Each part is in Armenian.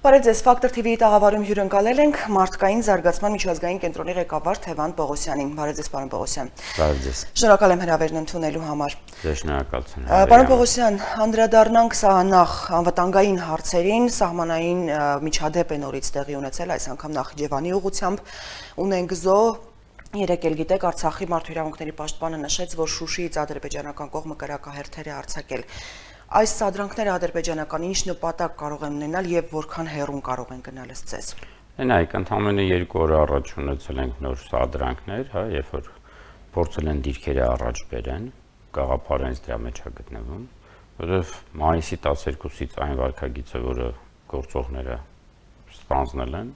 Բարև ձեզ, Ֆակտոր TV-ի տաղավարում հյուրընկալել ենք մարդկային զարգացման միջազգային կենտրոնի ղեկավար Թևան Պողոսյանին։ Բարև ձեզ, պարոն Պողոսյան։ Բարև ձեզ։ Շնորհակալ եմ հրավերն ընդունելու համար։ Ձեզ շնորհակալություն։ Պարոն Պողոսյան, անդրադառնանք նախ անվտանգային հարցերին, սահմանային միջադեպ է նորից տեղի ունեցել, այս անգամ Նախիջևանի ուղղությամբ ունենք զո։ Երեկ էլ գիտեք, Արցախի մարդու իրավունքների պաշտպանը նշեց, որ Շուշիից ադրբեջանական կողմը կրակահերթեր է արձակել։ Այս սադրանքները ադրբեջանական ինչ նպատակ կարող են ունենալ եւ որքան հեռուն կարող են գնալ ըստ ձեզ։ Նայեք, ընդամենը 2 օր առաջ ունեցել ենք նոր սադրանքներ, հա, երբ որ փորձել են դիրքերը առաջ բերեն, գաղափարը հենց դրա մեջ է գտնվում, որովհետեւ մայիսի 12-ից այն վարքագիծը, որը գործողները ստանձնել են,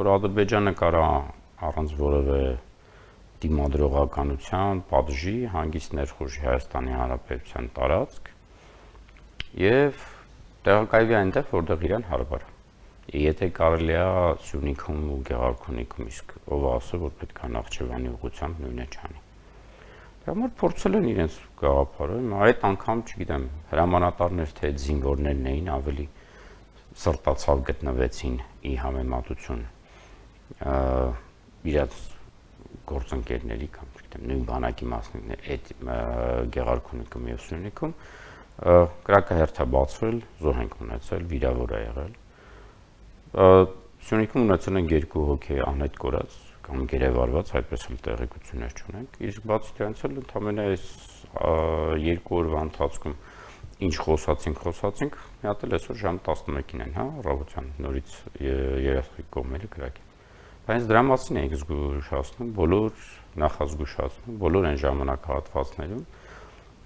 որ Ադրբեջանը կարա առանց որևէ դիմադրողականության, պատժի, հանգիստ ներխուժի Հայաստանի Հանրապետության տարածք եւ տեղակայվի այնտեղ, որտեղ իրան հարաբար է։ Եթե կարելի է Սյունիքում ու Գեղարքունիքում, իսկ ով ասը, որ պետք է Նախճեվանի ուղղությամբ նույնը չանի։ Դրա համար փորձել են իրենց գաղափարը, այդ անգամ, չգիտեմ, հրամանատարներ թե զինվորներն էին ավելի սրտացավ գտնվեցին ի համեմատություն իրաց գործընկերների կամ չգիտեմ նույն բանակի մասնիկներ այդ Գեղարքունիքում եւ Սյունիքում կրակահերթ է բացվել, զոհ ենք ունեցել, վիրավոր է եղել։ Սյունիքում ունեցել են 2 հոգի անհետ կորած կամ գերեվարված, այդպես էլ տեղեկություններ չունենք։ Իսկ բացի դրանից էլ ընդամենը այս 2 օրվա ընթացքում ինչ խոսացինք, մի հատ էլ այսօր ժամը 11-ին են, հա, առավոտյան նորից երեխայի կողմերը կրակի։ Բայց դրա մասին ենք զգուշացնում, բոլոր նախազգուշացնում, բոլոր այն ժամանակահատվածներում,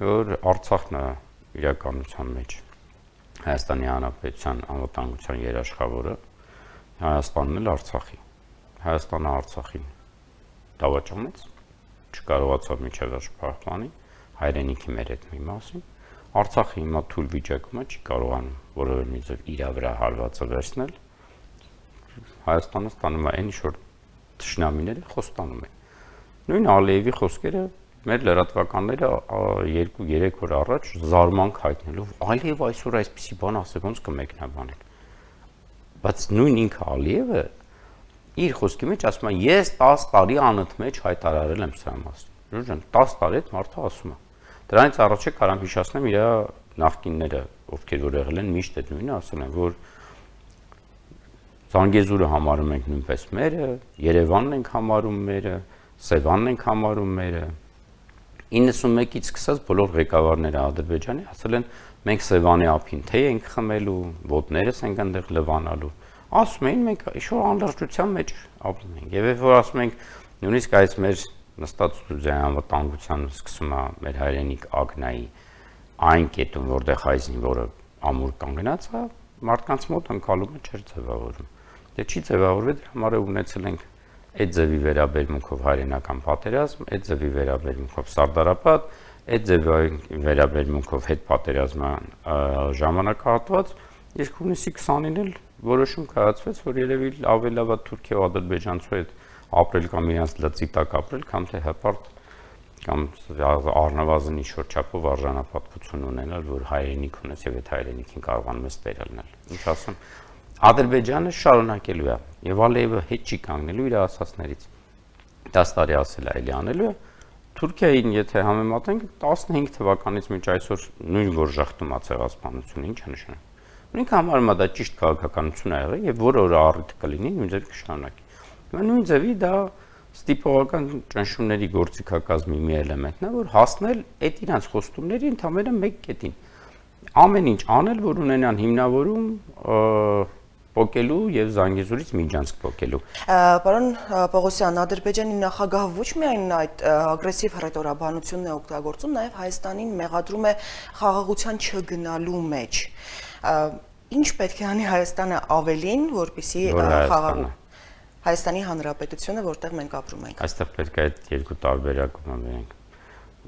որ Արցախն է իրականության մեջ Հայաստանի Հանրապետության անվտանգության երաշխավորը, Հայաստանն էլ Արցախի։ Հայաստանը Արցախին դավաճանեց, չկարողացավ մինչև վերջ պահպանի, հայրենիքի մեր այդ մի մասին։ Արցախը հիմա թույլ վիճակում է, չի կարողանում որևէ մի ձև իր վրա հարվածը վերցնել։ Հայաստանը ստանում է այն ինչ-որ թշնամիները խոստանում են։ Նույն Ալիևի խոսքերը մեր լրատվականները 2-3 օր առաջ զարմանք հայտնելով Ալիև այսօր այսպիսի բան ասել, ոնց կմեկնաբանենք։ Բայց նույն ինքը Ալիևը իր խոսքի մեջ ասում է ես 10 տարի անընդմեջ հայտարարել եմ սրա մասին։ Ժորժան 10 տարի այդ մարդը ասում է։ Դրանից առաջ կարամ հիշեցնեմ իր նախկինները, ովքեր որ եղել են միշտ այդ նույնը ասել են, որ Զանգեզուրը համարում ենք նույնպես մերը, Երևանն ենք համարում մերը, Սևանն ենք համարում մերը։ 91-ից սկսած բոլոր ղեկավարները Ադրբեջանի ասել են մենք Սևանի ափին թե ենք խմելու, ոտներս ենք այնտեղ լվանալու։ Ասում էին մենք ինչ-որ անլրջության մեջ ապրում ենք։ Եվ երբ որ ասում ենք նույնիսկ այս մեր նստած ստուդիայի անվտանգության սկսում է մեր հայրենիք Ագնայի այն կետում, որտեղ հայ զինվորը ամուր կանգնած է, մարդկանց մոտ ընկալումը չէր ձևավորվում։ Դե չի ձևավորվել, դրա համար ունեցել ենք այդ ձևի վերաբերմունքով հայրենական պատերազմ, այդ ձևի վերաբերմունքով Սարդարապատ, այդ ձևի վերաբերմունքով հետպատերազմյան ժամանակահատված, իսկ հունիսի 20-ին էլ որոշում կայացվեց, որ երևի ավելի լավ է Թուրքիա ու Ադրբեջանցու հետ ապրել կամ իրենց լծի տակ ապրել, կամ թե հպարտ կամ առնվազն ինչ-որ չափով արժանապատվություն ունենալ, որ հայրենիք ունես եւ այդ հայրենիքին կարողանում ես տեր լինել։ Ինչ ասում, Ադրբեջանը շարունակելու է եւ Ալիևը հետ չի կանգնելու իր ասածներից։ 10 տարի ասել է, էլի անելու է։ Թուրքիային եթե համեմատենք 15 թվականից մինչ այսօր նույն որ ժախտում է ցեղասպանությունը, ինչ է նշանակում։ Նույնք համարում է դա ճիշտ քաղաքականություն է եղել եւ որը առիթ կլինի նույն ձևի կշարունակի։ Հիմա նույն ձևի դա ստիպողական ճնշումների գործիքակազմի մի էլեմենտն է, որ հասնել այդ իրանց խոստումների ընդամենը մեկ կետին։ Ամեն ինչ անել, որ ունենան հիմնավորում փոկելու եւ Զանգեզուրից Միջանցք փոկելու։ Պարոն Պողոսյան, Ադրբեջանի նախագահը ոչ միայն այդ ագրեսիվ հռետորաբանությունն է օգտագործում, նաեւ Հայաստանին մեղադրում է խաղաղության չգնալու մեջ։ Ինչ պետք է անի Հայաստանը ավելին, որպեսզի Հայաստանի Հանրապետությունը, որտեղ մենք ապրում ենք։ Այստեղ պետք է այդ երկու տարբերակումը վերենք։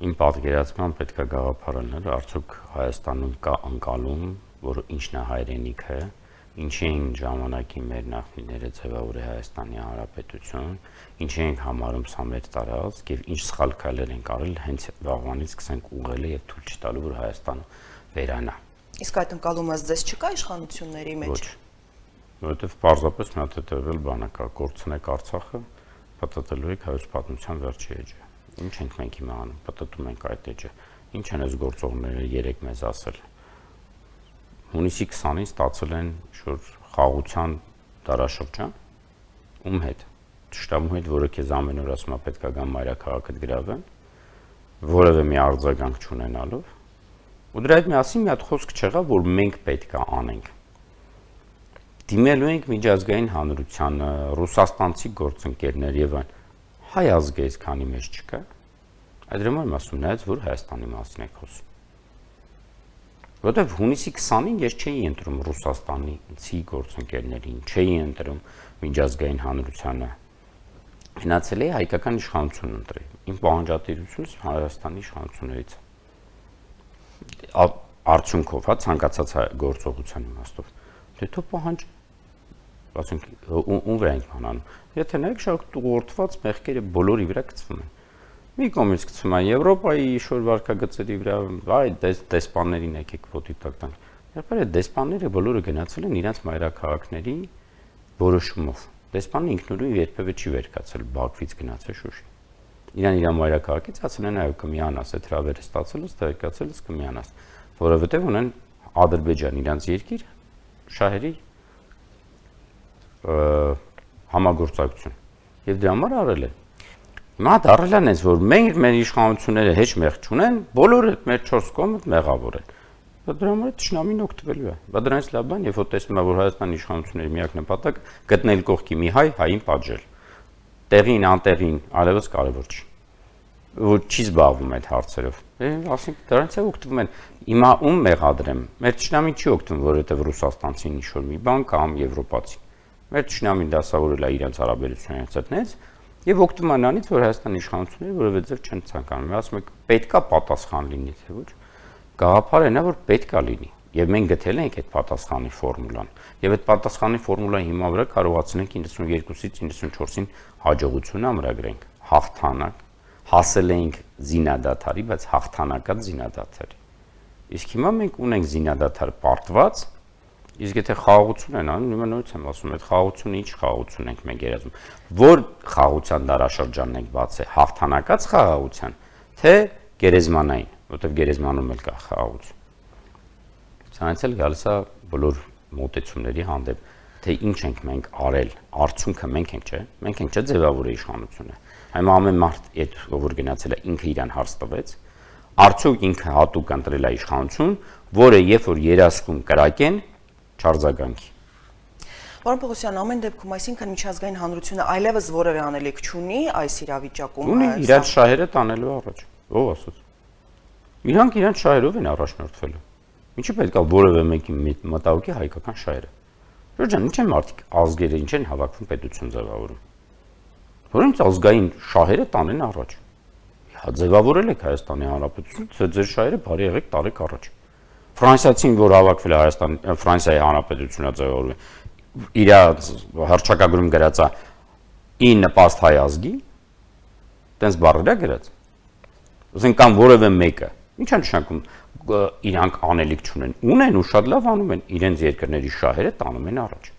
Իմ պատկերացման պետք է գաղափարը լինել, արդյոք Հայաստանում կա անկալում, որ ինչն է հայրենիքը, ինչի են ժամանակի մեր նախնիները ձևավորել Հայաստանի Հանրապետություն, ինչի ենք համարում սա մեր տարածք եւ ինչ սխալ քայլեր են արել հենց վաղվանից սկսենք ուղղել եւ թույլ չտալու որ Հայաստանը վերանա։ Իսկ այդ ընկալումը ձեզ չկա իշխանությունների մեջ։ Ոչ։ որովհետև պարզապես մի հատ հետևել բանը կա, կորցնեք Արցախը, պատտելու եք հայոց պատմության վերջի էջը։ Ինչ ենք մենք հիմա անում, պատտում ենք այդ էջը։ Ինչ են այս գործողները երեք մեզ ասել։ Հունիսի 20-ին ստացել են շուտ խաղաղության դարաշրջան, ում հետ, ճշտամու հետ, որը քեզ ամեն օր ասում է պետք է գամ մայրաքաղաքդ գրավեն, որևէ մի արձագանք չունենալով, ու դրա հետ միասին մի հատ խոսք չեղավ, որ մենք պետք է անենք։ Դիմելու ենք միջազգային հանրությանը, ռուսաստանցի գործընկերներ եւ այն, հայ ազգը այսքանի մեջ չկա։ Այդ դրամը եմ ասում, նայած որ Հայաստանի մասին եք խոսում։ Որտեւ հունիսի 20-ին ես չէի ընտրում Ռուսաստանցի գործընկերներին, չէի ընտրում միջազգային հանրությանը։ Գնացել էի հայկական իշխանություն ընտրել։ Իմ պահանջատիրությունս Հայաստանի իշխանություններից։ Արդյունքով, հա, ցանկացած գործողության իմաստով։ Դե թող պահանջ, ասենք, ում վրա ենք հանանում։ Եթե նայեք, շատ ուղղորդված մեղքերը բոլորի վրա գծվում են։ Մի կողմից գծվում են Եվրոպայի ինչ-որ վարկագծերի վրա, այ դեսպաններին եկեք ոտի տակ տանք։ Երբ այդ դեսպանները բոլորը գնացել են իրենց մայրաքաղաքների որոշումով։ Դեսպանը ինքնուրույն երբևէ չի վերկացել Բաքվից գնացել Շուշի։ Իրան իր մայրաքաղաքից ասել են այո կմիանաս, այդ հրավերը ստացելուց տեղեկացելուց կմիանաս, որովհետև ունեն Ադրբեջան իրանց երկիր շահերի համագործակցություն եւ դրա համար արել են։ Հիմա դառել են այս որ մենք մեր իշխանությունները հեչ մեղ չունեն, բոլորը մեր 4 կողմը մեղավոր են։ Բայց դրա համար ճշնամին օգտվելու է։ Բայց դրանից լավ բան, երբ որ տեսնում է որ Հայաստանի իշխանությունների միակ նպատակը գտնել կողքի մի հայ, հային պատժել։ Տեղին, անտեղին, այլևս կարևոր չի։ Որ չի զբաղվում այդ հարցերով։ Ասենք դրանից է օգտվում են։ Հիմա ում մեղադրեմ։ Մեր ճշնամին չի օգտվում, որովհետև ռուսաստանցին ինչ-որ մի բան կամ եվրոպացի։ Մեր ճշնամին դասավորել է իրենց հարաբերություններից այդտենց եւ օգտվում է նրանից, որ Հայաստանի իշխանությունները որևէ ձև չեն ցանկանում։ Ասում եք պետքա պատասխան լինի, թե ոչ։ Գաղափարը նա որ պետքա լինի։ Եվ մենք գտել ենք այդ պատասխանի ֆորմուլան։ Եվ այդ պատասխանի ֆորմուլայի հիմա վրա կարողացնենք 92-ից 94-ին հաջողություն ամրագրենք, հաղթանակ, հասել ենք զինադադարի, բայց հաղթանակած զինադադարի։ Իսկ հիմա մենք ունենք զինադադար պարտված, իսկ եթե խաղաղություն են անում, հիմա նորից եմ ասում, այդ խաղաղությունը ինչ խաղաղություն ենք մենք երազում, որ խաղաղության դարաշրջանն ենք բացել, հաղթանակած խաղաղության, թե գերեզմանային, որտեղ գերեզմանում էլ կա խաղաղություն։ Սրանից էլ գալիս է բոլոր մոտեցումների հանդեպ, թե ինչ ենք մենք արել, արդյունքը մենք ենք, չէ՞։ Մենք ենք չէ ձևավորել իշխանությունը։ Հիմա ամեն մարդ այդ որ գնացել է ինքը իրան հարց տվեց, արդյոք ինքը հատուկ ընտրել է իշխանություն, որը երբ որ երասկում կրակեն, չարձագանքի։ Պարոն Պողոսյան, ամեն դեպքում, այսինքն միջազգային հանրությունը այլևս որևէ անելիք չունի այս իրավիճակում։ Ունի իրենց շահերը տանելու առաջ։ Ով ասաց։ Իրանք իրենց շահերով են առաջնորդվելու։ Ինչի պետք է որևէ մեկի մտահոգի հայկական շահերը։ Ժորժան, ինչ են մարդիկ ազգերը, ինչ են հավաքվում պետություն ձևավորում։ Որոնց ազգային շահերը տանեն առաջ։ Հա ձևավորել եք Հայաստանի Հանրապետությունը, ձեր շահերը բարի եղեք տարեք առաջ։ Ֆրանսիացին, որ հավաքվել է Ֆրանսիայի Հանրապետությունը ձևավորում, իր հռչակագրում գրած է ի նպաստ հայ ազգի, տենց բառեր է գրած։ Ասենք կամ որևէ մեկը, ինչ է նշանակում իրանք անելիք չունեն, ունեն ու շատ լավ անում են իրենց երկրների շահերը տանում են առաջ։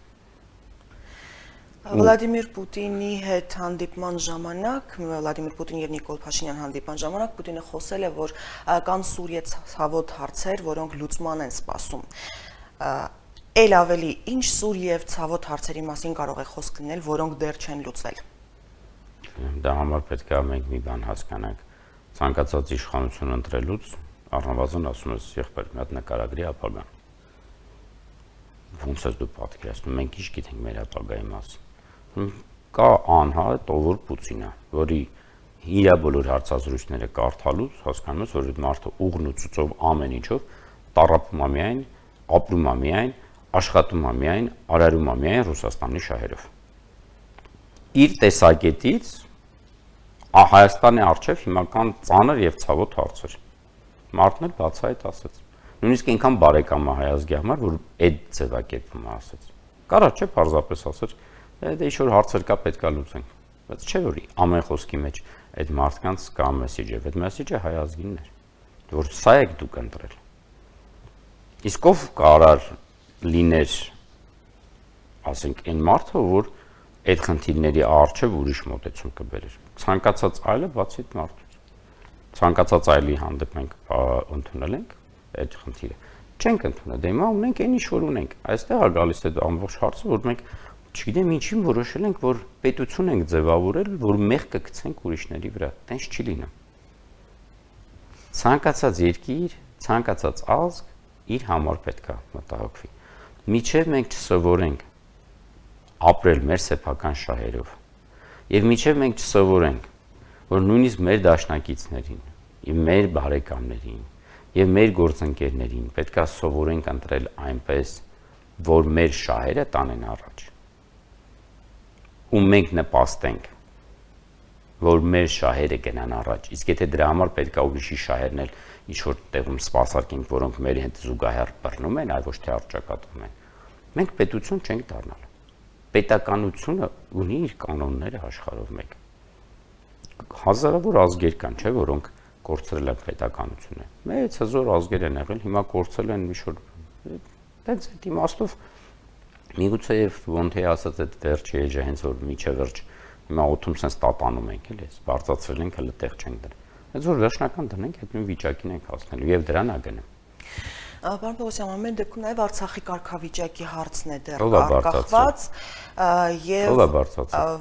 Վլադիմիր Պուտինի հետ հանդիպման ժամանակ, Վլադիմիր Պուտին եւ Նիկոլ Փաշինյան հանդիպման ժամանակ Պուտինը խոսել է, որ կան սուրյե ցավոտ հարցեր, որոնք լուծման են սպասում։ Էլ ավելի ինչ սուր եւ ցավոտ հարցերի մասին կարող է խոսք լինել, որոնք դեռ չեն լուծվել։ Դա համար պետք է մենք մի բան հասկանանք։ Ցանկացած իշխանություն ընտրելուց առնվազն ասում ես եղբայր մի հատ նկարագրի ապագան։ Ոնց է դու պատկերացնում, մենք ինչ գիտենք մեր ապագայի մասին։ Կա անհատ ովոր Պուտինը, որի իր բոլոր հարցազրույցները կարդալուց հասկանում ես, որ այդ մարդը ուղն ու ցույցով ամեն ինչով տառապում է միայն, ապրում է միայն, աշխատում է միայն, արարում է միայն Ռուսաստանի շահերով։ Իր տեսակետից Հայաստանի առջև հիմական ծանր եւ ցավոտ հարցեր։ Մարդն էլ բացահայտ ասաց։ Նույնիսկ այնքան բարեկամ է հայ ազգի համար, որ այդ ձևակերպումը ասաց։ Կարա չէ պարզապես ասաց, դե ինչ որ հարցեր կա պետք է լուծենք։ Բայց չէ որ ամեն խոսքի մեջ այդ մարդկանց կա մեսեջը, այդ մեսեջը հայ ազգինն էր, որ սա եք դուք ընտրել։ Իսկ ով կարար լիներ ասենք այն մարդը, որ այդ խնդիրների առջև ուրիշ մոտեցում կբերեր։ Ցանկացած այլը բացի այդ մարդուց։ Ցանկացած այլի հանդեպ մենք ընդունել ենք այդ խնդիրը։ Չենք ընդունել, դե հիմա ունենք այն ինչ որ ունենք։ Այստեղ է գալիս այդ ամբողջ հարցը, որ մենք չգիտեմ ինչին որոշել ենք, որ պետություն ենք ձևավորել, որ մեղքը գցենք ուրիշների վրա։ Տենց չի լինում։ Ցանկացած երկիր, ցանկացած ազգ իր համար պետք է մտահոգվի։ Միջև մենք չսովորենք ապրել մեր սեփական շահերով, եւ միջև մենք չսովորենք, որ նույնիսկ մեր դաշնակիցներին, եւ մեր բարեկամներին, եւ մեր գործընկերներին պետք է սովորենք ընտրել այնպես, որ մեր շահերը տանեն առաջ։ Ու մենք նպաստենք, որ մեր շահերը գնան առաջ։ Իսկ եթե դրա համար պետք է ուրիշի շահերն էլ ինչ որ տեղում սպասարկենք, որոնք մեր հետ զուգահեռ բռնում են, այլ ոչ թե առճակատում են, մենք պետություն չենք դառնալ։ Պետականությունը ունի իր կանոնները աշխարհով մեկ։ Հազարավոր ազգեր կան, չէ՞, որոնք կորցրել են պետականությունը։ Մեծ հզոր ազգեր են եղել, հիմա կորցրել են ինչ-որ դից այդ իմաստով միգուցե եւ ոնթե ասած այդ վերջի էջը հենց որ միջը վերջ հիմա օթում sense տատանում ենք էլի, բարձրացրել ենք, հələ տեղ չենք դրել։ Այդ որ վերջնական դնենք, այդ նույն վիճակին ենք հասնելու եւ դրան է գնում։ Պարոն Պողոսյան, ամեն դեպքում նաև Արցախի կարգավիճակի հարցն է դեռ արկղված եւ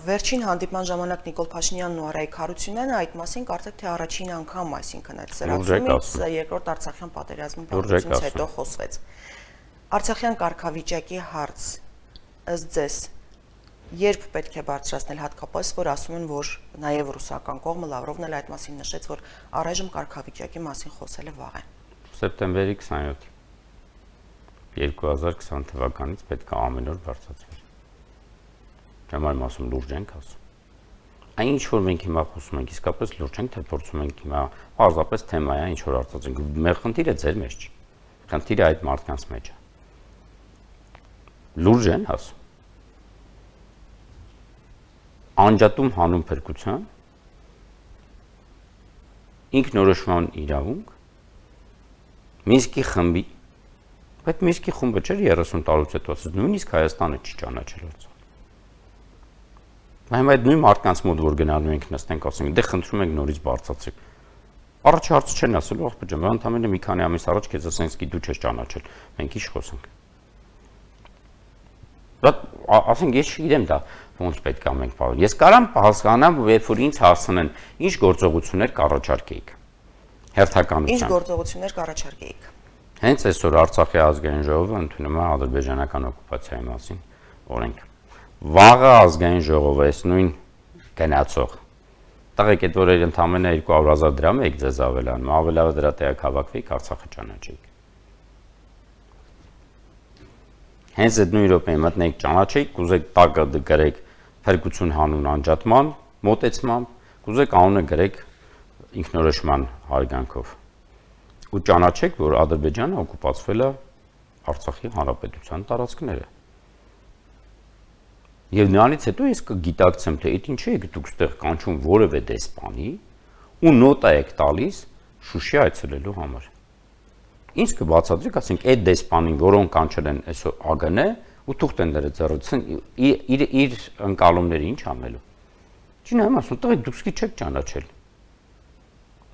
վերջին հանդիպման ժամանակ Նիկոլ Փաշինյանն ու Արայիկ Հարությունյանը այդ մասին կարծեք թե առաջին անգամ, այսինքն այդ սրացումից երկրորդ Արցախյան պատերազմի բացությունից հետո խոսվեց։ Արցախյան կարգավիճակի հարց ըստ ձեզ երբ պետք է բարձրացնել, հատկապես որ ասում են, որ նաև ռուսական կողմը Լավրովն էլ այդ մասին նշեց, որ առայժմ կարգավիճակի մասին խոսելը վաղ է։ Սեպտեմբերի 27 2020 թվականից պետք է ամեն օր բարձրացվի։ Ճամարում ասում լուրջ ենք ասում։ Այն ինչ որ մենք հիմա խոսում ենք, իսկապես լուրջ ենք, թե փորձում ենք հիմա պարզապես թեմա է, ինչ որ արտացոլենք։ Մեր խնդիրը ձեր մեջ չի։ Խնդիրը այդ մարդկանց մեջ է։ Լուրջ են ասում։ Անջատում հանուն փրկության, ինքնորոշման իրավունք, Մինսկի խմբի, բայց Մինսկի խումբը չէր 30 տարուց հետո, նույնիսկ Հայաստանը չի ճանաչել Արցախը։ Բայց այդ նույն մարդկանց մոտ որ գնալու ենք նստենք ասենք, դե խնդրում ենք նորից բարձրացրեք։ Առաջ հարցը չեն ասելու, ախպեր ջան, ընդամենը մի քանի ամիս առաջ քեզ ասենք, դու չես ճանաչել, մենք ինչ խոսենք։ Բայց ասենք ես չգիտեմ դա ոնց պետք է մենք բաղ։ Ես կարամ հասկանամ, երբ որ ինձ հարցնեն, ինչ գործողություններ կառաջարկեիք։ Հերթականությամբ։ Ինչ գործողություններ կառաջարկեիք։ Հենց այսօր Արցախի ազգային ժողովը ընդունում է ադրբեջանական օկուպացիայի մասին օրենք։ Վաղը ազգային ժողովը այս նույն գնացող։ Տղեկ այդ որ ընդամենը 200,000 դրամ եք ձեզ ավելանում, ավելավը դրա տեղակ հավաքվեիք, Արցախը ճանաչեիք։ Հենց այդ նույն րոպեին մտնեիք ճանաչեիք, կուզեք տակը գրեք փրկություն հանուն անջատման մոտեցմամբ, կուզեք անունը գրեք ինքնորոշման հարգանքով։ Ու ճանաչեք, որ Ադրբեջանը օկուպացվել է Արցախի հանրապետության տարածքները։ Եվ նրանից հետո ես կգիտակցեմ, թե այդ ինչի եք դուք ստեղ կանչում որևէ դեսպանի ու նոտա եք տալիս Շուշի այցելելու համար։ Ինչ կբացատրեք, ասենք այդ դեսպանին, որոնք կանչել են այսօր ԱԳՆ ու թուղթ են դրել ձեռքին, իր ընկալումները ինչ անելու։ Չի նայում ասում, տղեկ դուք սկի չեք ճանաչել։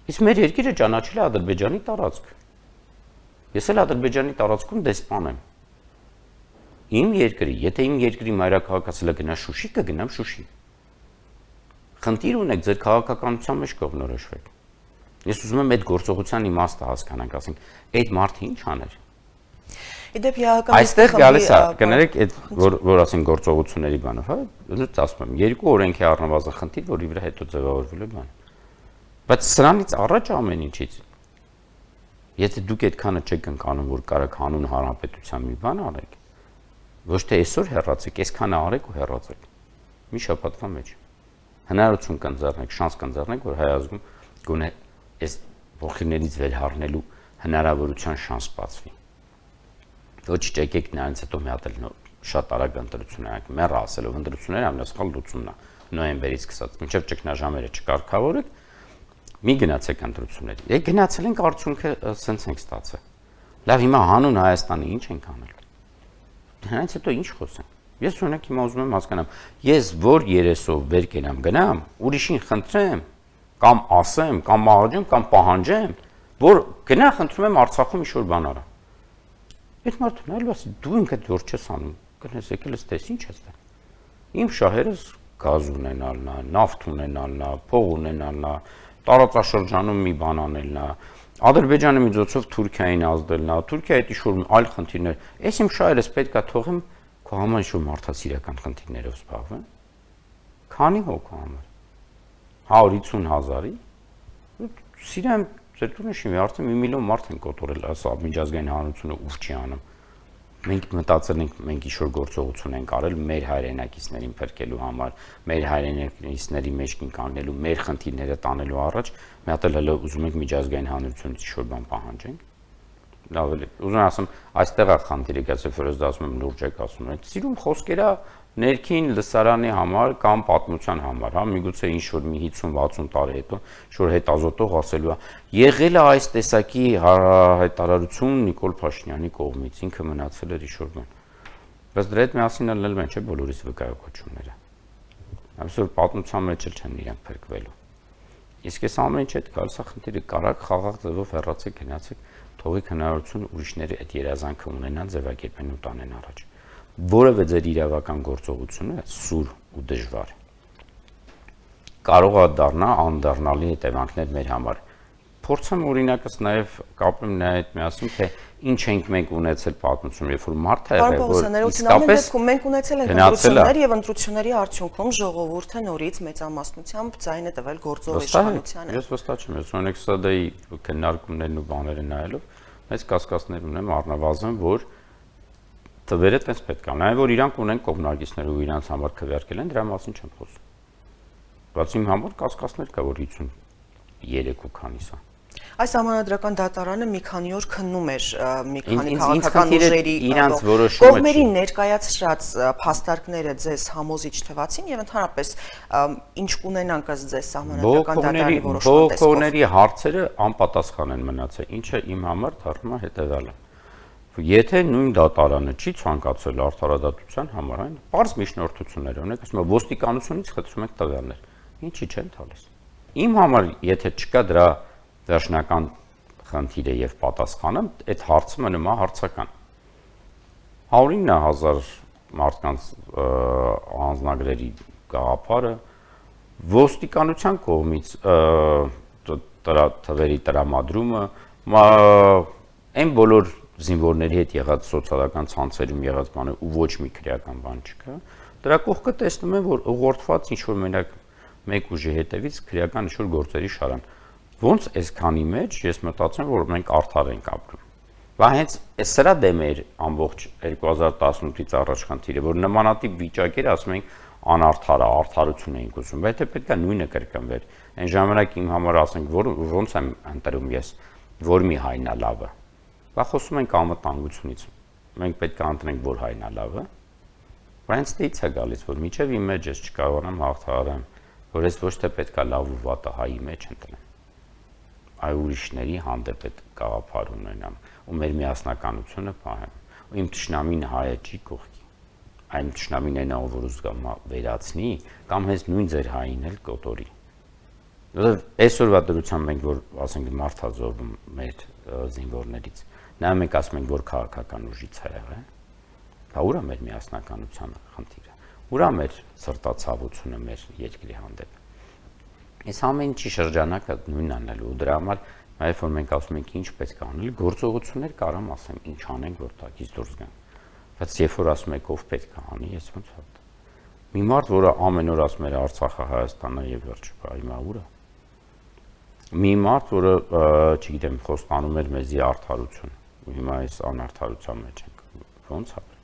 Իսկ մեր երկիրը ճանաչել է Ադրբեջանի տարածք։ Ես էլ Ադրբեջանի տարածքում դեսպան եմ։ Իմ երկրի, եթե իմ երկրի մայրաքաղաքացիը գնա Շուշի, կգնամ Շուշի։ Խնդիր ունեք ձեր քաղաքականության մեջ կողմնորոշվեք։ Ես ուզում եմ այդ գործողության իմաստը հասկանանք, ասենք, այդ մարդը ինչ աներ։ Իդեպ իհարկան այստեղ գալիս է, կներեք, այդ որ ասենք գործողությունների բանով, հա, ըստ ասում եմ, երկու օրենքի առնվազն խնդիր, որի վրա հետո ձևավորվելու բան։ Բայց սրանից առաջ ամեն ինչից եթե դուք այդքանը չեք ընկանում, որ կարաք հանուն հանրապետության մի բան արեք, ոչ թե այսօր հեռացեք, այսքանը արեք ու հեռացեք։ Մի շաբաթվա մեջ հնարավորություն կընձեռնեք, շանս կընձեռնեք, որ հայ ազգում գոնե այս ողջիներից վերհառնելու հնարավորության շանս բացվի։ Ոչ չեկեք նրանց հետո մի հատ էլ շատ արագ ընտրություն արեք, մեռը ասելով ընտրությունները ամենասխալ լուծումն է նոյեմբերից սկսած, մինչև ճգնաժամերը չկարգավորեք, մի գնացեք ընտրությունների։ Եկ գնացել ենք արդյունքը սենց ենք ստացել։ Լավ, հիմա հանուն Հայաստանի ինչ ենք անել։ Դրանից հետո ինչ խոսենք։ Ես օրինակ հիմա ուզում եմ հասկանամ, ես որ երեսով վեր կենամ գնամ, ուրիշին խնդրեմ, կամ ասեմ, կամ աղջեմ, կամ պահանջեմ, որ գնա խնդրում եմ Արցախում ինչ-որ բան արա։ Այդ մարդը նայելու ասի, դու ինքդ որ չես անում, գնես եկել ես տես ինչ ես դա։ Իմ շահերս գազ ունենալն է, նավթ ունենալն է, փող ունենալն է, տարածաշրջանում մի բան անելն է, Ադրբեջանի միջոցով Թուրքիային ազդելն է, Թուրքիայի հետ ինչ-որ այլ խնդիրներ։ Այս իմ շահերս պետք է թողեմ քո համար ինչ-որ մարդասիրական խնդիրներով զբաղվեմ։ Քանի հոգու համար։ 150,000-ի։ Սիրեմ ձեր տունը շինվի, արդեն 1 միլիոն մարդ են կոտորել, ասա միջազգային հանրությունը ուր չի անում։ Մենք մտածել ենք, մենք ինչ-որ գործողություն ենք արել մեր հայրենակիցներին փրկելու համար, մեր հայրենակիցների մեջ կանգնելու, մեր խնդիրները տանելու առաջ, մի հատ էլ ուզում ենք միջազգային հանրությունից ինչ-որ բան պահանջենք։ Լավ է, ուզում եմ ասեմ, այստեղ է խնդիրը, գուցե որ ես դա ասում եմ լուրջ եք ասում եմ, սիրում խոսքերա ներքին լսարանի համար կամ պատմության համար, հա, միգուցե ինչ-որ մի 50-60 տարի հետո ինչ-որ հետազոտող ասելու է, եղել է այս տեսակի հայտարարություն Նիկոլ Փաշինյանի կողմից, ինքը մնացել էր ինչ-որ բան։ Բայց դրա հետ միասին ելնել են չէ բոլորիս վկայակոչումները։ Այսօր պատմության մեջ էլ չեն իրենք փրկվելու։ Իսկ այս ամեն ինչ հետ գալիս է խնդիրը կարակ խաղաղ ձևով հեռացեք, գնացեք, թողիկ հնարավորություն ուրիշների այդ երազանքը ունենան, ձևակերպեն ու տանեն առաջ։ Որևէ ձեր իրավական գործողությունը սուր ու դժվար կարող է դառնա անդառնալի հետևանքներ մեր համար։ Փորձեմ օրինակս նաև կապեմ նաև միասին, թե ինչ ենք մենք ունեցել պատմությունում, երբ որ մարդը եղել, որ իսկապես մենք ունեցել ենք ընտրություններ եւ ընտրությունների արդյունքում ժողովուրդը նորից մեծամասնությամբ ձայնը տվել գործող իշխանությանը։ Ես վստահ չեմ, ես օրինակ ՍԴ-ի քննարկումներն ու բաները նայելով մեծ կասկածներ ունեմ առնվազն, որ թվերը տես պետք է։ Նաև որ իրանք ունեն կողմնակիցներ ու իրանց համար քվեարկել են, դրա մասին չեմ խոսում։ Բայց իմ համար կասկածներ կա, որ 53 ու քանիս է։ Այս համանդրական դատարանը մի քանի օր քննում էր մի քանի քաղաքական ուժերի իրանց որոշումը կողմերին ներկայացրած փաստարկները ձեզ համոզիչ թվացին եւ ընդհանրապես ինչ կունենանք ըստ ձեզ համանդրական դատարանի որոշման տեսքով։ Կողմերի հարցերը անպատասխան են մնացել, ինչը իմ համար դառնում է հետեւյալը։ Եթե նույն դատարանը չի ցանկացել արդարադատության համար, այն բարձ միջնորդություններ ունեք, ասում եմ ոստիկանությունից խնդրում եք տվյալներ, ինչի չեն տալիս։ Իմ համար եթե չկա դրա վերջնական խնդիրը եւ պատասխանը, այդ հարցը մնում է հարցական։ 109,000 մարդկանց անձնագրերի գաղափարը ոստիկանության կողմից թվերի տրամադրումը, այն բոլոր զինվորների հետ եղած սոցիալական ցանցերում եղած բանը ու ոչ մի քրեական բան չկա։ Դրա կողքը տեսնում եմ, որ ուղղորդված ինչ որ մենակ մեկ ուժի հետևից քրեական ինչ որ գործերի շարան։ Ոնց այսքանի մեջ ես մտածում որ մենք արդար ենք ապրում։ Բա հենց սրա դեմ էր ամբողջ 2018-ից առաջ խնդիրը, որ նմանատիպ վիճակեր ասում ենք անարդար է, արդարություն էինք ուզում, բայց թե պետք է նույնը կրկնվեր։ Այն ժամանակ իմ համար ասենք, որ ոնց եմ ընտրում ես, որ մի հայնա լավը։ Բա խոսում ենք անվտանգությունից։ Մենք պետք է ընտրենք, որ հայնա լավը։ Բայց դից է գալիս, որ միջև իմ մեջ ես չկարողանամ հաղթահարեմ, որ ես ոչ թե պետք է լավ ու վատը հայի մեջ ընտրեմ։ Այ ուրիշների հանդեպ այդ գաղափար ունենամ ու մեր միասնականությունը պահեմ։ Ու իմ թշնամին հայը չի կողքի։ Այն թշնամին այն ով որ ուզում վերացնի կամ հենց նույն ձեր հային էլ կոտորի։ Որովհետև այսօրվա դրությամբ մենք որ ասենք մարդազոհում մեր զինվորներից, նայում ենք ասում ենք որ քաղաքական ուժից է եղել։ Դա ուր է մեր միասնականության խնդիրը։ Ուր է մեր սրտացավությունը մեր երկրի հանդեպ։ Այս ամեն ինչի շրջանակը նույնն անելու ու դրա համար այլ որ մենք ասում ենք ինչ պետք է անել, գործողություններ կարամ ասեմ ինչ անենք որ տակից դուրս գան։ Բայց երբ որ ասում եք ով պետք է անի, ես ոնց է։ Մի մարդ, որը ամեն օր ասում էր Արցախը Հայաստանը եւ վերջ, հիմա ուր է։ Մի մարդ, որը չգիտեմ, խոստանում էր մեզի արդարություն, ու հիմա այս անարդարության մեջ ենք։ Ոնց ապրենք։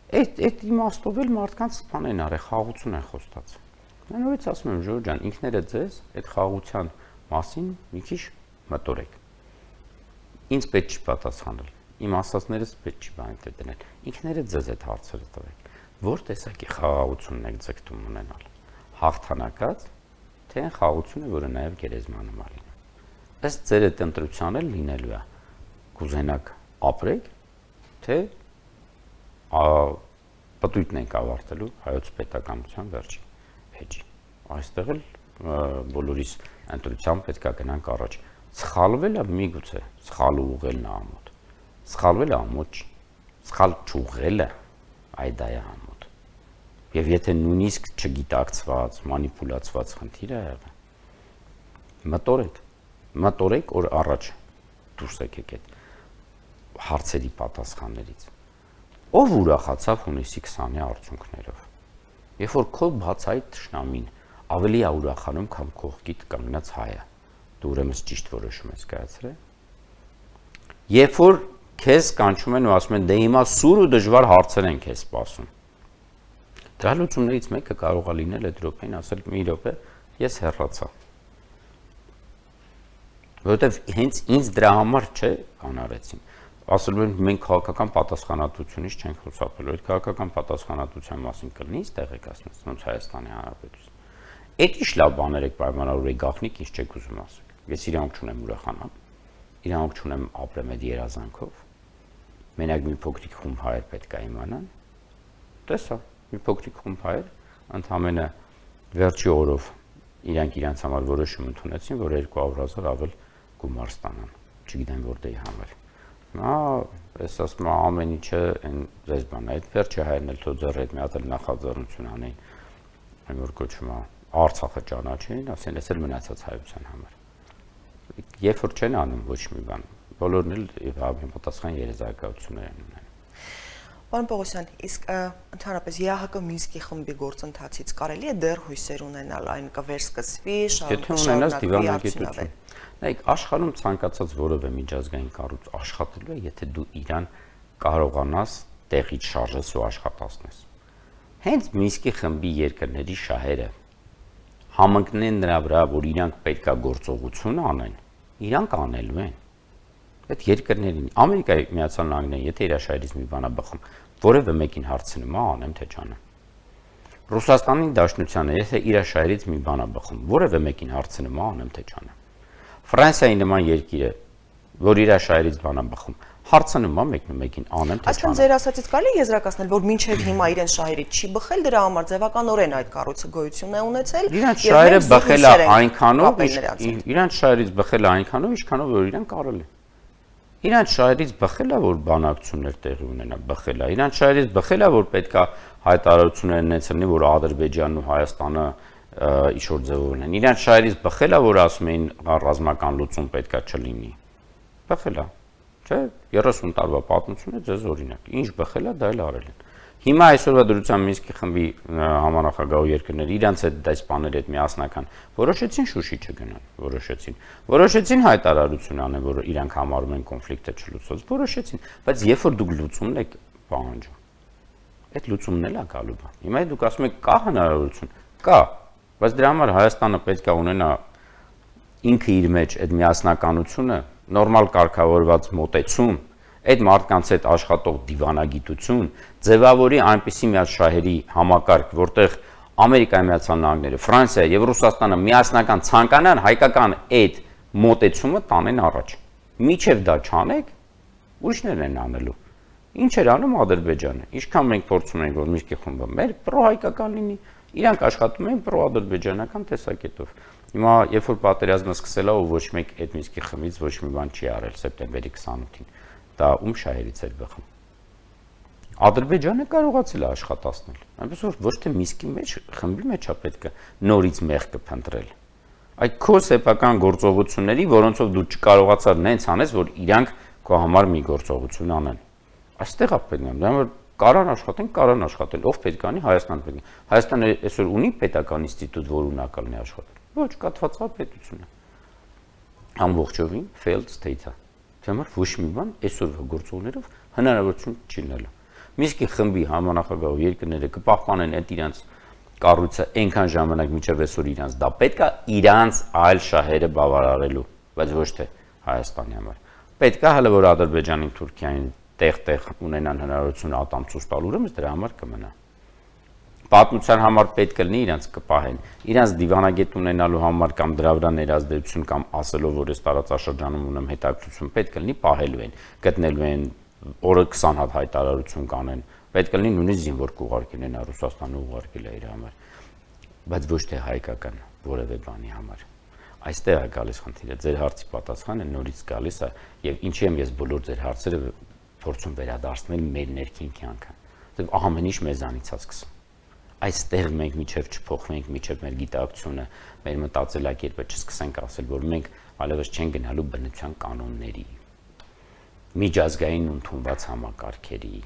Այդ իմաստով էլ մարդկանց բան են արել, խաղաղություն են խոստացել։ Mən նորից ասում եմ Ժորժ ջան, ինքներդ ձեզ այդ խաղաղության մասին մի քիչ մտորեք։ Ինձ պետք չի պատասխանել։ Իմ ասածներս պետք չի բանտե դնել։ Ինքներդ ձեզ այդ հարցերը տվեք։ Որ տեսակի խաղաղությունն եք ձգտում ունենալ։ Հաղթանակած, թե այն խաղաղությունը, որը նաև գերեզմանում է լինում։ Ըստ ձեր այդ ընտրության էլ լինելու է։ Կուզենաք ապրեք, թե Պտույտն ենք ավարտելու հայոց պետականության վերջին էջի։ Այստեղ էլ բոլորիս ընտրությամբ պետք է գնանք առաջ։ Սխալվել է միգուցե, սխալ ուղղելն է ամոթ։ Սխալվել է ամոթ, սխալ չուղղելը այդ է ամոթ։ Եվ եթե նույնիսկ չգիտակցված, մանիպուլացված խնդիր է եղել, մտորեք օր առաջ դուրս եկեք այդ հարցերի պատասխաններից։ Ով ուրախացավ հունիսի 20-ի արդյունքներով։ Երբ որ քո բացայի թշնամին ավելի է ուրախանում, քան կողքիդ կանգնած հայը, դու ուրեմն ճիշտ որոշում ես կայացրել։ Երբ որ քեզ կանչում են ու ասում են, դե հիմա սուր ու դժվար հարցեր են քեզ սպասում։ Դրա լուծումներից մեկը կարող է լինել այդ րոպեին ասել՝ մի րոպե, ես հեռացա։ Որովհետև հենց ինձ դրա համար չէ կանարեցին։ Ասելու են մենք քաղաքական պատասխանատվությունից չենք խոսապելու, այդ քաղաքական պատասխանատվության մասին կլինի տեղեկացնես, ոնց Հայաստանի Հանրապետություն։ Էդ ինչ լավ բաներ եք պայմանավորել գաղտնիք, ինչ չեք ուզում ասել։ Ես իրանք չունեմ ուրախանալ, իրանք չունեմ ապրեմ այդ երազանքով։ Մենակ մի փոքրիկ խումբ հայեր պետք է իմանան։ Տեսա, մի փոքրիկ խումբ հայեր ընդհանրապես վերջի օրով իրանք համար որոշում ընդունեցին, որ 200,000 ավել գումար ստանան։ Չգիտեմ որտեղի համար։ Նա ես ասում եմ ամեն ինչը այն ձեզ բան է, այդ վերջը հայերն էլ թոձեռ այդ մի հատ էլ նախաձեռնություն անեն, այն որ կոչվում է Արցախը ճանաչին, ասեն ես էլ մնացած հայության համար։ Երբ որ չեն անում ոչ մի բան, բոլորն էլ համապատասխան երազակայություններ են ունենում։ Պարոն Պողոսյան, իսկ ընդհանրապես ԵԱՀԿ Մինսկի խմբի գործընթացից կարելի է դեռ հույսեր ունենալ, այն կվերսկսվի, շարունակվի։ Նայեք, աշխարհում ցանկացած որևէ միջազգային կառույց աշխատելու է, եթե դու իրան կարողանաս տեղից շարժես ու աշխատացնես։ Հենց Մինսկի խմբի երկրների շահերը համընկնեն նրա վրա, որ իրանք պետքա գործողություն անեն, իրանք անելու են։ Այդ երկրներին Ամերիկայի Միացյալ Նահանգները, եթե իր շահերից մի բան է բխում, որևէ մեկին հարցնում է, անեմ թե չանեմ։ Ռուսաստանի Դաշնությանը, եթե իր շահերից մի բան է բխում, որևէ մեկին հարցնում է, անեմ թե չանեմ։ Ֆրանսիայի նման երկիրը, որ իր շահերից բան է բխում, հարցնում է մեկին, անեմ թե չանեմ։ Այսինքն ձեր ասածից կարելի է եզրակացնել, որ մինչև հիմա իրեն շահերից չի բխել, դրա համար ձևականորեն այդ կառույցը գոյություն է ունեցել։ Իրանց շահերը բխել է այնքանով, իրանց շահերից բխել է այնքանով, ինչքանով որ իրեն կարել է։ Իրանց շահերից բխել է, որ բանակցություններ տեղի ունենա, բխել է։ Իրանց շահերից բխել է, որ պետքա հայտարարություններ ունեցնի, որ Ադրբեջանն ու Հայաստանը ինչ-որ ձևով ունեն։ Իրանց շահերից բխել է, որ ասում էին ռազմական լուծում պետքա չլինի։ Բխել է, չէ՞, 30 տարվա պատմությունը ձեզ օրինակ։ Ինչ բխել է, դա էլ արել են։ Հիմա այսօրվա դրության Մինսկի խմբի համանախագահ երկրները իրանց այդ դեսպանների հետ միասնական որոշեցին Շուշի չգնան, որոշեցին հայտարարություն անեն, որ իրանք համարում են կոնֆլիկտը չլուծված, որոշեցին, բայց երբ որ դուք լուծումն եք պահանջում, այդ լուծումն էլ է գալու բան։ Հիմա դուք ասում եք կա հնարավորություն, կա, բայց դրա համար Հայաստանը պետք է ունենա ինքը իր մեջ այդ միասնականությունը, նորմալ կարգավորված մոտեցում, այդ մարդկանց հետ աշխատող դիվանագիտություն, ձևավորի այնպիսի մի հատ շահերի համակարգ, որտեղ Ամերիկայի Միացյալ Նահանգները, Ֆրանսիա եւ Ռուսաստանը միասնական ցանկանան հայկական այդ մոտեցումը տանեն առաջ։ Միչև դա չանեք, ուրիշներն են անելու։ Ինչ էր անում Ադրբեջանը։ Ինչքան մենք փորձում ենք, որ Մինսկի խումբը մեր պրոհայկական լինի, իրանք աշխատում են պրոադրբեջանական տեսակետով։ Հիմա երբ որ պատերազմը սկսել է, ու ոչ մեկ այդ Մինսկի խմբից ոչ մի բան չի արել սեպտեմբերի 28-ին, դա ում շահերից էր բխում։ Ադրբեջանը կարողացել է աշխատացնել, այնպես որ ոչ թե Մինսկի մեջ, խմբի մեջ է պետք է նորից մեղքը փնտրել։ Այդ քո սեփական գործողությունների, որոնցով դու չկարողացար նենց անես, որ իրանք քո համար մի գործողություն անեն։ Այստեղ է պետք է, որ կարան աշխատել, ով պետք անի Հայաստան պետք է։ Հայաստանը այսօր ունի պետական ինստիտուտ, որ ունակալ լինի աշխատել։ Ոչ, կաթվածա պետությունը։ Ամբողջովին failed state-ը։ Դրանով ոչ մի բան այսօրվա գործողներով հնարավորություն չի լինելու։ Մինսկի խմբի համանախագահ երկրները կպահպանեն այդ իրանց կառույցը այնքան ժամանակ մինչև այսօր իրանց դա պետք է իրանց այլ շահերը բավարարելու, բայց ոչ թե Հայաստանի համար։ Պետք է հələ որ Ադրբեջանին, Թուրքիային տեղ ունենան հնարավորություն ատամցուս տալ, ուրեմն դրա համար կմնա։ Պատմության համար պետք է լինի իրանց կպահեն, իրանց դիվանագետ ունենալու համար կամ դրա վրա ներազդեցություն կամ ասելով որ այս տարածաշրջանում ունեմ հետաքրքրություն պետք է լինի պահելու են, գտնելու են օրը 20 հատ հայտարարություն կանեն, Պետք է լինի նույնիսկ զինվոր կուղարկել են Ռուսաստանը ուղարկել է իր համար, բայց ոչ թե հայկական որևէ բանի համար։ Այստեղ է գալիս խնդիրը, ձեր հարցի պատասխանը նորից գալիս է եւ ինչի եմ ես բոլոր ձեր հարցերը փորձում վերադարձնել մեր ներքին կյանքը, որտեղ ամեն ինչ մեզանից է սկսում։ Այստեղ մենք միջև չփոխվենք, միջև մեր գիտակցությունը, մեր մտածելակերպը չսկսենք ասել, որ մենք այլևս չենք գնալու բնության կանոնների, միջազգային ընդունված համակարգերի,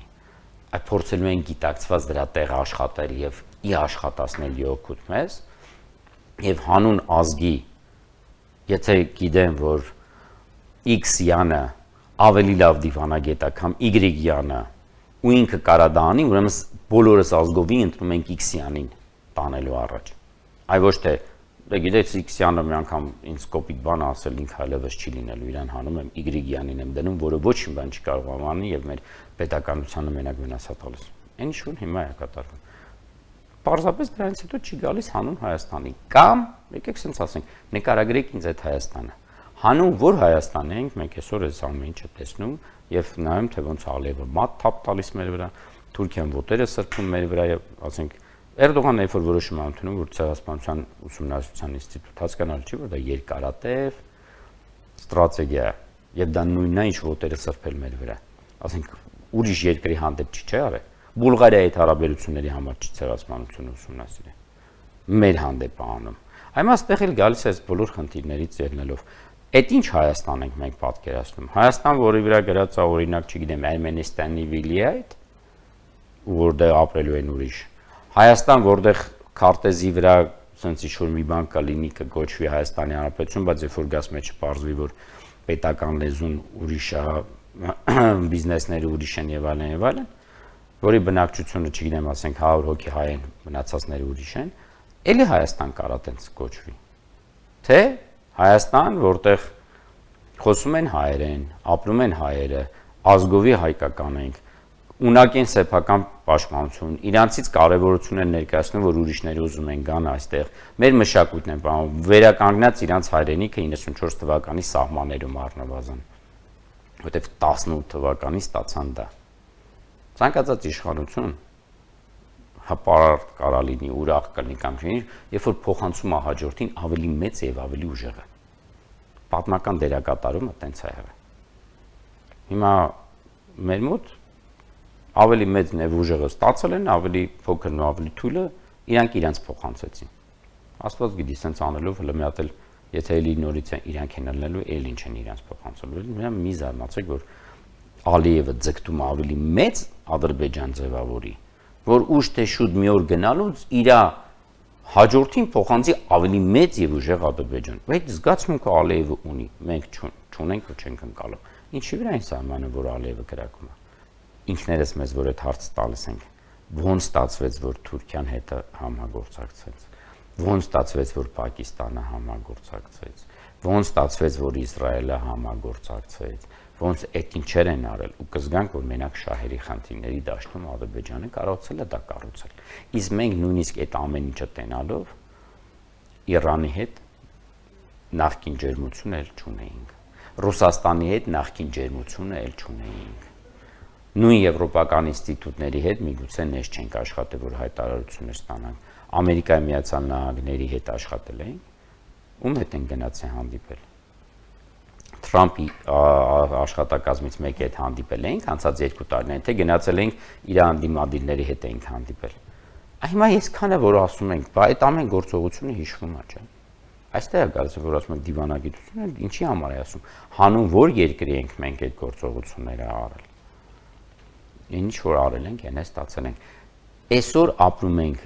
այլ փորձելու ենք գիտակցված դրա տեղ աշխատել եւ ի աշխատացնել յոքուտ մեզ եւ հանուն ազգի, եթե գիտեմ, որ X-յանը ավելի լավ դիվանագետ է, քան Y-յանը, ու ինքը կարա դա անի, ուրեմն բոլորս ազգովի ընտրում ենք X-յանին տանելու առաջ։ Այ ոչ թե, դե գիտեք, X-յանը մի անգամ ինձ կոպիտ բան ասել, ինքը այլևս չի լինելու, իրան հանում եմ Y-յանին եմ դնում, որը ոչ մի բան չի կարող անի եւ մեր պետականությանը մենակ վնաս է տալիս։ Այն ինչ որ հիմա է կատարվում։ Պարզապես դրանից հետո չի գալիս հանուն Հայաստանի, կամ եկեք ասենք ասենք, նկարագրեք ինձ այդ Հայաստանը։ Հանուն որ Հայաստան ենք, մենք այսօր այս ամեն ինչը տեսնում եւ նայում թե ոնց Ալիևը մատ թափ տալիս մեր վրա, Թուրքիան ոտերը սրբում մեր վրա եւ ասենք Էրդողանը երբ որ որոշում է ընդունում, որ ցեղասպանության ուսումնասիրության ինստիտուտ հասկանալ չի, որ դա երկարատև ստրատեգիա է եւ դա նույնն է ինչ ոտերը սրբել մեր վրա։ Ասենք ուրիշ երկրի հանդեպ չի արել։ Բուլղարիայի հետ հարաբերությունների համար չի ցեղասպանությունը ուսումնասիրել։ Մեր հանդեպ է անում։ Այմա այստեղ էլ գալիս է բոլոր խնդիրներից ելնելով։ Այդ ինչ Հայաստան ենք մենք պատկերացնում։ Հայաստան, որի վրա գրած է օրինակ, չգիտեմ, Էրմենստանի վիլի այդ, որտեղ ապրելու են ուրիշ։ Հայաստան, որտեղ քարտեզի վրա sense ինչ-որ մի բան կա լինի, կգոչվի Հայաստանի Հանրապետություն, բայց երբ որ գաս մեջը պարզվի, որ պետական լեզուն ուրիշ է, բիզնեսները ուրիշ են եւ այլն, որի բնակչությունը, չգիտեմ, ասենք 100 հոգի հայ են, մնացածները ուրիշ են, էլի Հայաստան կարա տենց կոչվի։ Թե Հայաստան, որտեղ խոսում են հայերեն, ապրում են հայերը, ազգովի հայկական ենք, ունակ են սեփական պաշտպանություն, իրանցից կարևորություն են ներկայացնում, որ ուրիշները ուզում են գան այստեղ, մեր մշակույթն են պահում, վերականգնած իրանց հայրենիքը 94 թվականի սահմաններում առնվազն, որտեղ 18 թվականից ստացան դա։ Ցանկացած իշխանություն հապարտ կարա լինի, ուրախ կլինի կամ չէ, երբ որ փոխանցում է հաջորդին ավելի մեծ եւ ավելի ուժեղ է։ Պատմական դերակատարումը տենց է եղել։ Հիմա մեր մոտ ավելի մեծ եւ ուժեղը ստացել են, ավելի փոքրն ու ավելի թույլը իրանք իրանց փոխանցեցին։ Աստված գիտի, սենց անելով հələ մի հատ էլ եթե էլի նորից են իրանք են ելնելու, էլ ինչ են իրանց փոխանցելու։ Մենակ մի զարմացեք, որ Ալիևը ձգտում ավելի մեծ Ադրբեջան ձևավորի, որ ուշ թե շուտ մի օր գնալուց իր հաջորդին փոխանցի ավելի մեծ եւ ուժեղ Ադրբեջան։ Այդ զգացմունքը Ալիևը ունի, մենք չունենք ու չենք ընկալում։ Ինչի վրա են սահմանը, որ Ալիևը կրակում է։ Ինքներս մեզ որ այդ հարցը տալիս ենք, ոնց ստացվեց, որ Թուրքիան հետ համագործակցեց, ոնց ստացվեց, որ Պակիստանը համագործակցեց, ոնց ստացվեց, որ Իսրայելը համագործակցեց, ոնց այդ ինչեր են արել ու կզգանք, որ մենակ շահերի խնդիրների դաշտում Ադրբեջանը կարողացել է դա կառուցել։ Իսկ մենք նույնիսկ այդ ամեն ինչը տենալով Իրանի հետ նախկին ջերմություն էլ չունեինք։ Ռուսաստանի հետ նախկին ջերմությունը էլ չունեինք։ Նույն եվրոպական ինստիտուտների հետ միգուցե նես չենք աշխատել, որ հայտարարություններ ստանանք։ Ամերիկայի Միացյալ Նահանգների հետ աշխատել ենք, ում հետ են գնացել հանդիպել։ Թրամփի աշխատակազմից մեկի հետ հանդիպել ենք անցած 2 տարիներին, թե գնացել ենք իր անդիմադիրների հետ ենք հանդիպել։ Հիմա այսքանը որ ասում ենք, բա այդ ամեն գործողությունը հիշվում է, չէ՞։ Այստեղ է գալիս, որ ասում ենք դիվանագիտությունը, ինչի համար է ասում, հանուն որ երկրի ենք մենք այդ գործողությունները արել։ Ինչ որ արել ենք, այն է ստացել ենք։ Այսօր ապրում ենք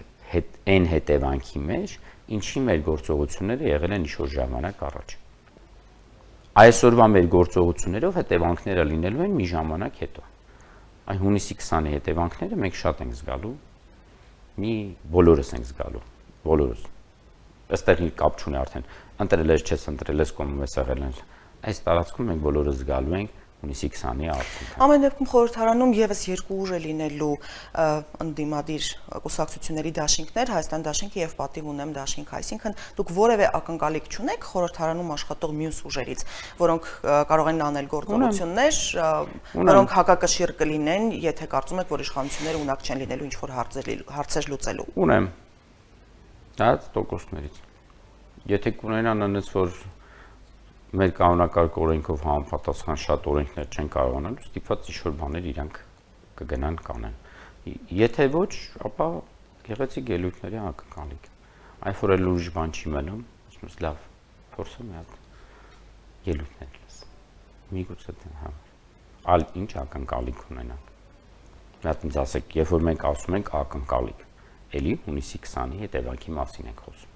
այն հետևանքի մեջ, ինչի մեր գործողությունները եղել են ինչ-որ ժամանակ առաջ։ Այսօրվա մեր գործողություններով հետևանքները լինելու են մի ժամանակ հետո։ Այն հունիսի 20-ի հետևանքները մենք շատ ենք զգալու, բոլորս ենք զգալու, բոլորս։ Այստեղ կապ չունի արդեն, ընտրել ես, չես ընտրել ես, կոմում ես եղել են։ Այս տարածքում մենք բոլորս զգալու ենք հունիսի 20-ի արդյունքը։ Ամեն դեպքում խորհրդարանում եւս երկու ուժ է լինելու ընդդիմադիր կուսակցությունների դաշինքներ, Հայաստան դաշինքը եւ Պատիվ ունեմ դաշինքը, այսինքն դուք որևէ ակնկալիք չունեք խորհրդարանում աշխատող մյուս ուժերից, որոնք կարող են անել գործողություններ, որոնք հակակշիռ կլինեն, եթե կարծում եք, որ իշխանությունները ունակ չեն լինելու ինչ-որ հարցեր լուծելու։ Ունեմ։ Դա տոկոսներից։ Եթե կունենան այնպես որ մեր կանոնակարգ օրենքով համապատասխան շատ օրենքներ չեն կարողանալու, ստիպված ինչ-որ բաներ իրանք կգնան կանեն։ Եթե ոչ, ապա գեղեցիկ ելույթների ակնկալիք։ Այն որ էլ ուրիշ բան չի մնում, ասում ես լավ, փորձեմ մի հատ ելույթներ լս։ Միգուցե դեն համար։ Այլ ինչ ակնկալիք ունենանք։ Մի հատ ինձ ասեք, երբ որ մենք ասում ենք ակնկալիք, էլի հունիսի 20-ի հետևանքի մասին ենք խոսում։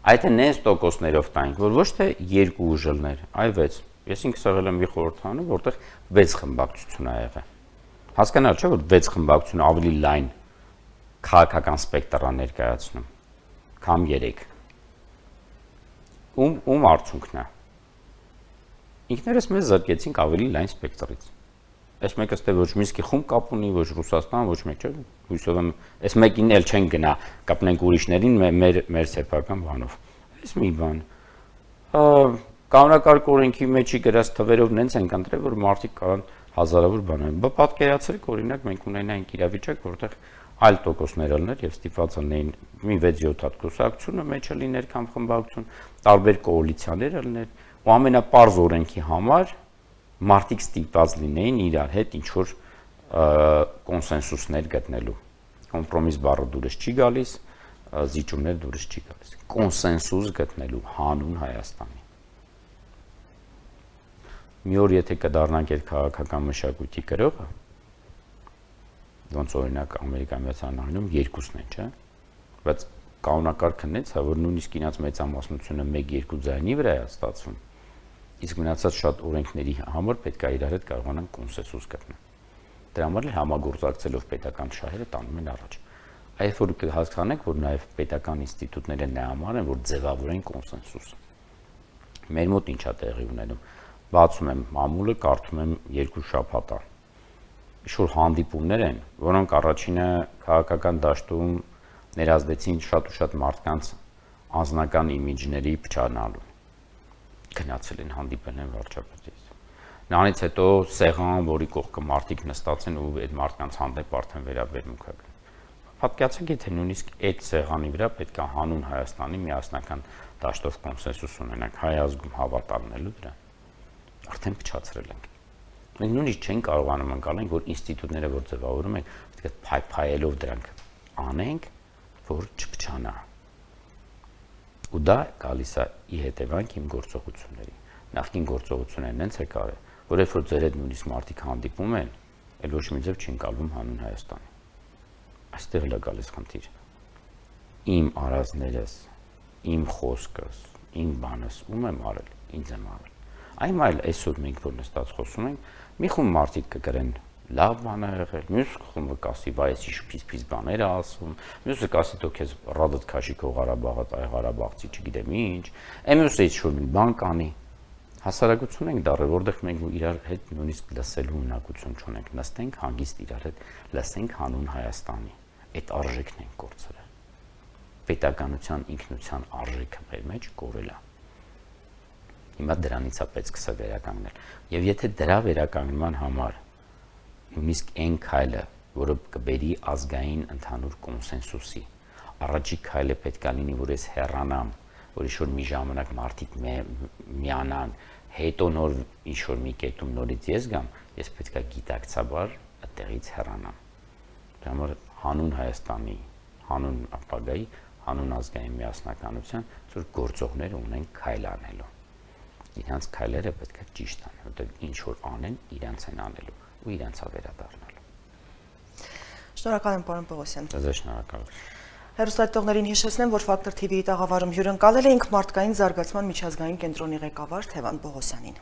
Այդ նենց տոկոսներով տանք, որ ոչ թե երկու ուժներ, այլ 6։ Ես ինքս եղել եմ մի խորհրդարանում, որտեղ 6 խմբակցություն ա եղել։ Հասկանալ չէ, որ 6 խմբակցությունը ավելի լայն քաղաքական սպեկտր ա ներկայացնում, քան 3։ Ում արդյունքն է։ Ինքներս մեզ զրկեցինք ավելի լայն սպեկտրից։ Այս մեկը ստե ոչ Մինսկի խումբ կապ ունի, ոչ Ռուսաստան, ոչ մեկ չէ, հույսով եմ, այս մեկին էլ չեն գնա, կապնենք ուրիշներին մեր սեփական բանով։ Այս մի բան։ Կանոնակարգ օրենքի մեջի գրած թվերով նենց են ընտրել, որ մարդիկ կարան հազարավոր բաներ։ Բա պատկերացրեք, օրինակ մենք ունենայինք իրավիճակ, որտեղ այլ տոկոսներ ելներ եւ ստիպված լինեին մի 6-7 հատ կուսակցությունը մեջը լիներ կամ խմբակցություն, տարբեր կոալիցիաներ ելներ, ու ամենապարզ օրենքի համար մարդիկ ստիպված լինեին իրար հետ ինչ-որ կոնսենսուսներ գտնելու։ Կոմպրոմիս բառը դուրս չի գալիս, զիջումներ դուրս չի գալիս։ Կոնսենսուս գտնելու հանուն Հայաստանի։ Մի օր եթե կդառնանք այդ քաղաքական մշակույթի գրողը, ոնց օրինակ Ամերիկայի Միացյալ Նահանգներում երկուսն են, չէ՞։ Բայց կանոնակարգը նենց է, որ նույնիսկ իրաց մեծամասնությունը 1-2 ձայնի վրա է ստացվում։ Իսկ մնացած շատ օրենքների համար պետք է իրար հետ կարողանան կոնսենսուս գտնել։ Դրա համար էլ համագործակցելով պետական շահերը տանում են առաջ։ Այդ որ կհասկանեք, որ նաև պետական ինստիտուտները նա համար են, որ ձևավորեն կոնսենսուս։ Մեր մոտ ինչա տեղի ունենում։ Բացում եմ մամուլը, կարդում եմ 2 շաբաթ։ Ինչ-որ հանդիպումներ են, որոնք առաջինը քաղաքական դաշտում ներազդեցին շատ ու շատ մարդկանց անձնական իմիջների փչանալու։ Գնացել են հանդիպել են վարչապետից։ Նրանից հետո սեղան, որի կողքը մարդիկ նստած են ու այդ մարդկանց հանդեպ արդեն վերաբերմունք կա։ Պատկերացրեք, եթե նույնիսկ այդ սեղանի վրա պետք է հանուն Հայաստանի միասնական դաշտով կոնսենսուս ունենանք, հայ ազգում հավատալնելու դրան։ Արդեն փչացրել ենք։ Մենք նույնիսկ չենք կարողանում անցնել, որ ինստիտուտները որ ձևավորում են, պետք է փայփայելով դրանք անենք, որ չփչանա։ Ու դա գալիս է ի հետևանք իմ գործողությունների։ Նախկին գործողություններն հենց եկար է, որ երբ որ ձեր հետ նույնիսկ մարդիկ հանդիպում են, այլ ոչ մի ձև չի ընկալվում հանուն Հայաստանի։ Այստեղ էլ է գալիս խնդիր։ Իմ արածներս, իմ խոսքս, իմ բանս ում եմ արել, ինձ եմ արել։ Այլ այսօր մենք որ նստած խոսում ենք, մի խումբ մարդիկ կգրեն լավ բան ա եղել, մյուս խումբը կասի, վայ, էս ինչ բաներ ա ասում, մյուսը կասի, դու քեզ ռադդ քաշի քո Ղարաբաղը, այ Ղարաբաղցի չգիտեմ ինչ, մյուսը ինչ-որ մի բան կանի։ Հասարակություն ենք դառել, որտեղ մենք իրար հետ նույնիսկ լսելու ունակություն չունենք, նստենք հանգիստ իրար հետ, լսենք հանուն Հայաստանի։ Այդ արժեքն ենք կորցրել։ Պետականության ինքնության արժեքը մեր մեջ կորել է։ Հիմա դրանից է պետք սկսել վերականգնել։ Եվ եթե դրա վերականգնման համար նույնիսկ այն քայլը, որը կբերի ազգային ընդհանուր կոնսենսուսի, առաջի քայլը պետք է լինի, որ ես հեռանամ, որ ինչ-որ մի ժամանակ մարդիկ միանան, հետո նոր ինչ-որ մի կետում նորից ես գամ, ես պետք է գիտակցաբար այդտեղից հեռանամ։ Դրա համար հանուն Հայաստանի, հանուն ապագայի, հանուն ազգային միասնականության, որ գործողներ ունեն քայլ անելու։ Իրանց քայլերը պետք է ճիշտ անեն, որտեղ ինչ որ անեն, իրանց են անելու ու իրանց է վերադառնալու։ Շնորհակալ եմ, պարոն Պողոսյան։ Ձեզ շնորհակալություն։ Հեռուստադիտողներին հիշեցնեմ, որ Ֆակտոր TV-ի տաղավարում հյուրընկալել էինք մարդկային զարգացման միջազգային կենտրոնի ղեկավար Թևան Պողոսյանին։